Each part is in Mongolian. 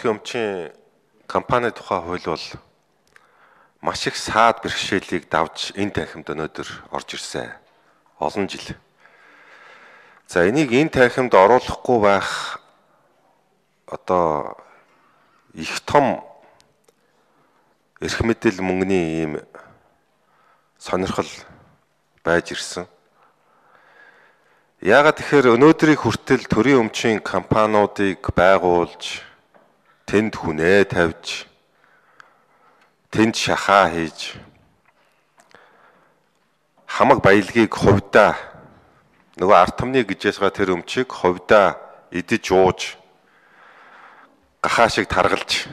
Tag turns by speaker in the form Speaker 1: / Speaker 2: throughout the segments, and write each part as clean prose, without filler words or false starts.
Speaker 1: нутгийн өмчийн компани тухай хууль бол маш их саад бэрхшээлийг давж энэ танхимд өнөөдөр орж ирсэн. Олон жил. За энийг энэ танхимд оруулахгүй байх одоо их том эрх мэдэл мөнгөний ийм сонирхол байж ирсэн. Яагаад тэгэхээр өнөөдрийг хүртэл төрийн өмчийн компаниудыг байгуулж, тэнд хүнээ тавьж, тэнд шахаа хийж, хамаг баялагийг хувьдаа нөгөө ард түмний гэж ясгаа тэр өмчийг хувьдаа идэж ууж, гахаа шиг таргалж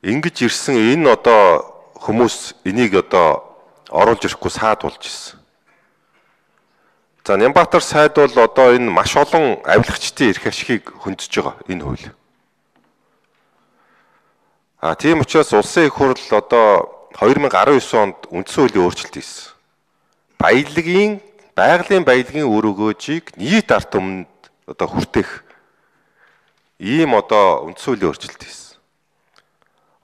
Speaker 1: ингэж ирсэн энэ одоо хүмүүс энийг одоо оруулж ирэхгүй саад болж ирсэн. За Нямбатар сайд бол одоо энэ маш олон авилгачдын эрх ашигыг хөндөж байгаа энэ хууль. Тийм учраас улсын их хурл одоо 2019 онд үндсэн хуулийн өөрчлөлт хийсэн. Байгалийн баялагын үр өгөөжийг нийт ард түмэнд одоо хүртэх ийм одоо үндсэн хуулийн өөрчлөлт хийсэн.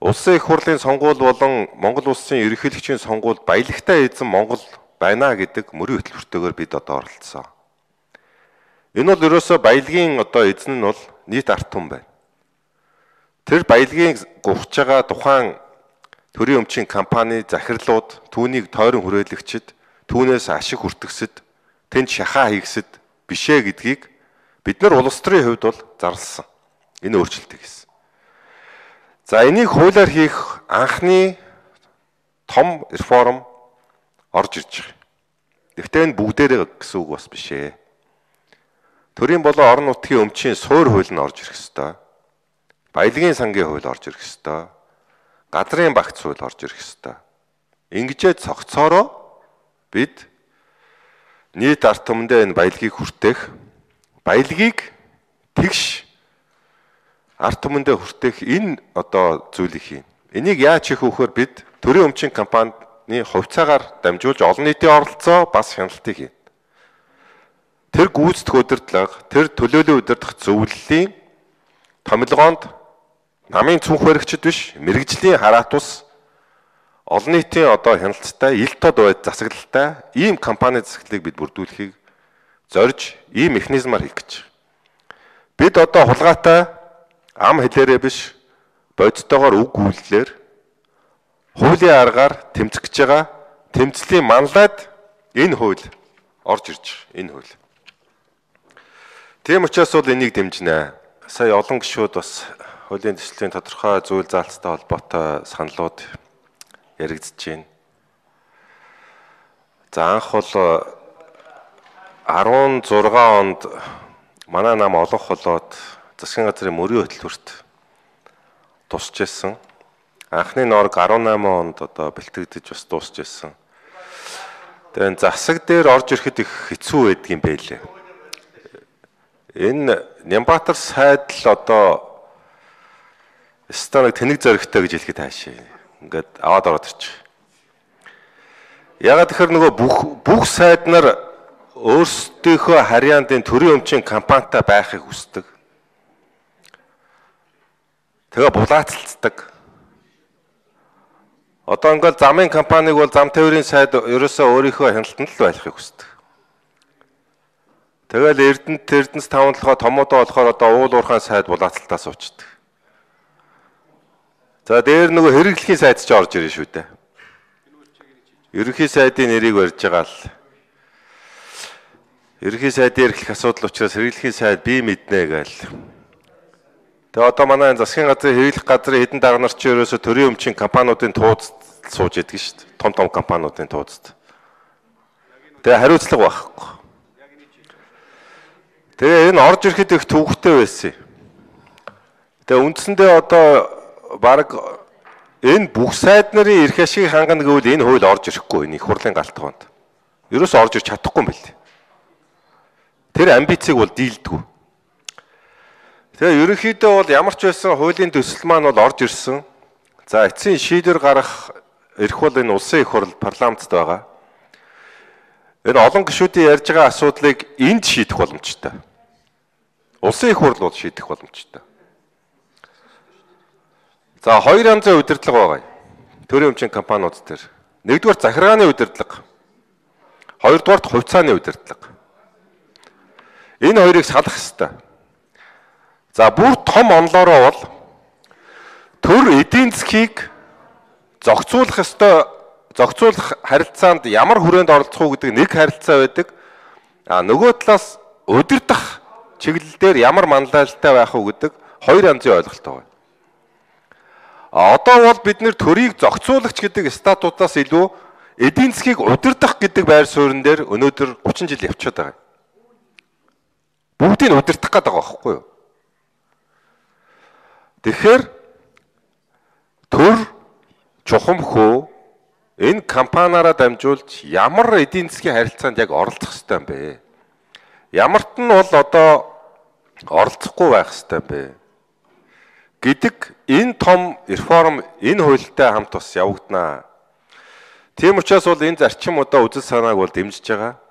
Speaker 1: Улсын их хурлын сонгуул болон Монгол улсын ерөнхийлөгчийн сонгуульд баялагтай эзэн Монгол байна гэдэг мөрийн хөтөлбөртөөр бид одоо оролцсон. Энэ бол ерөөсөө баялагын одоо эзэн нь бол нийт ард түмэн байна. Тэр баялагын гуйж байгаа тухайн төрийн өмчийн компани захирлууд, түүнийг тойрон хүрээлэгчид, түүнээс ашиг хүртгсэд, тэнд шахаа хийгсэд бишээ гэдгийг бид нар улс төрийн хувьд бол зарласан. Энэ өөрчлөлтийг хийсэн. За энийг хуулиар хийх анхны том реформ орж ирж байгаа. Гэхдээ энэ бүгдээрээ гэсэн үг бас биш ээ. Төрийн болон орон нутгийн өмчийн суур хууль нь орж ирэх ёстой. Баялагын сангийн хууль орж ирэх ёстой. Газрын багц хууль орж ирэх ёстой. Ингэжээ цогцоороо бид нийт ард түмэндээ энэ баялагийг хүртэх, баялагийг тэгш ард түмэндээ хүртэх энэ одоо зүйлийг хийн. Энийг яаж хийх вөхөр бид төрийн өмчийн компанид хувьцаагаар дамжуулж олон нийтийн оролцоо бас хяналтыг хийн. Тэр гүйцэтгэх удирдлага, тэр төлөөллийн удирдах зөвлөлийн томилгоонд намын цүнх баригчид биш, мэрэгжлийн хараат ус олон нийтийн одоо хяналттай, ил тод байд засаглалтай ийм компани засаглалыг бид бүрдүүлэхийг зорж ийм механизмаар хийх гэж. Бид одоо хулгайтай ам хэлээрээ биш, бодитойгоор үг үйлдэлээр хуулийн аргаар тэмцэх гэж байгаа тэмцлийн манлайд энэ хууль орж ирж байна. Энэ хууль. Тийм учраас бол энийг дэмжинэ. Сая олон гишүүд бас хуулийн төслийн тодорхой зүйл заалттай холбоотой саналууд яригдж байна. За анх бол 16 онд манай нам олонх болоод засгийн газрын мөрийн хөтөлбөрт тусч ирсэн. Анхны норг 18 онд одоо бэлтгэгдэж бас дуусч ирсэн. Тэгээд засаг дээр орж ирэхэд их хэцүү байдаг юм байлээ. Энэ Нямбатар сайд л одоо станаг тэнэг зөрөгтэй гэж хэлэхэд хаашаа. Ингээд аваад ороод ирчих. Ягаад тэгэхээр нөгөө бүх сайд нар өөрсдийнхөө харьяандын төрийн өмчийн компанитай байхыг хүсдэг. Тэгээ булаацалцдаг. Одоо ингээл замын компаниг бол зам тээврийн сайд ерөөсөө өөрийнхөө хяналтанд л байхыг хүсдэг. Тэгэл Эрдэнэс таван толгой томоодоо болохоор одоо уул уурхайн сайд булаацалтаа суучдаг. За дээр нөгөө хэрэглэхийн сайд ч орж ирнэ шүү дээ. Ерөнхий сайдын нэрийг барьж байгаа л. Ерөнхий сайдын эрхлэх асуудал учраас хэрэглэхийн сайд бие мэднэ гээл. Тэгээ одоо манай засгийн газрын хэрэглэх газрын хэдэн дарга нар ч ерөөсө төрийн өмчийн компаниудын туудад сууж идэг шүү дээ. Том компаниудын туудад. Тэгээ хариуцлага байхгүй. Тэгээ энэ орж ирэхэд их төвөгтэй байсан. Тэгээ үндсэндээ одоо баг энэ бүх сайд нарын эрх ашиг хангана гэвэл энэ хууль орж ирэхгүй энэ их хурлын галтгоонд. Ерөөсө орж ирч чадахгүй юм байл. Тэр амбицийг бол дийлдэггүй. Тэгээ ерөнхийдөө бол ямар ч байсан хуулийн төсөл маань бол орж ирсэн. За эцсийн шийдвэр гарах эрх бол энэ улсын их хурл парламентд байгаа. Энэ олон гишүүдийн ярьж байгаа асуудлыг энд шийдэх боломжтой. Улсын их хурл бол шийдэх боломжтой. За хоёр янзын удирдлага байгаа. Төрийн өмчийн компаниуд дээр. Нэгдүгээр захиргааны удирдлага. Хоёрдугаар хувьцааны удирдлага. Энэ хоёрыг салах ёстой. За бүр том онлоороо бол төр эдийн засгийг зохицуулах ёстой, зохицуулах харилцаанд ямар хүрээнд оролцох уу гэдэг нэг харилцаа байдаг. Нөгөө талаас удирдах чиглэл дээр ямар манлайлалтай байх уу гэдэг хоёр янзын ойлголт байгаа. Одоо бол бид нэр төрийг зохицуулагч гэдэг статутаас илүү эдийн засгийг удирдах гэдэг байр суурин дээр өнөөдөр 30 жил явчихад байгаа. Бүгдийг удирдах гэдэг байгаа байхгүй юу? Тэгэхээр төр чухамхөө энэ компаниараа дамжуулж ямар эдийн засгийн харилцаанд яг оролцох ёстой юм бэ? Ямарт нь бол одоо оролцохгүй байх ёстой юм бэ? Гэдэг энэ том реформ энэ хуультай хамт бас явагдана. Тийм учраас бол энэ зарчим одоо үзэл санааг бол дэмжиж байгаа.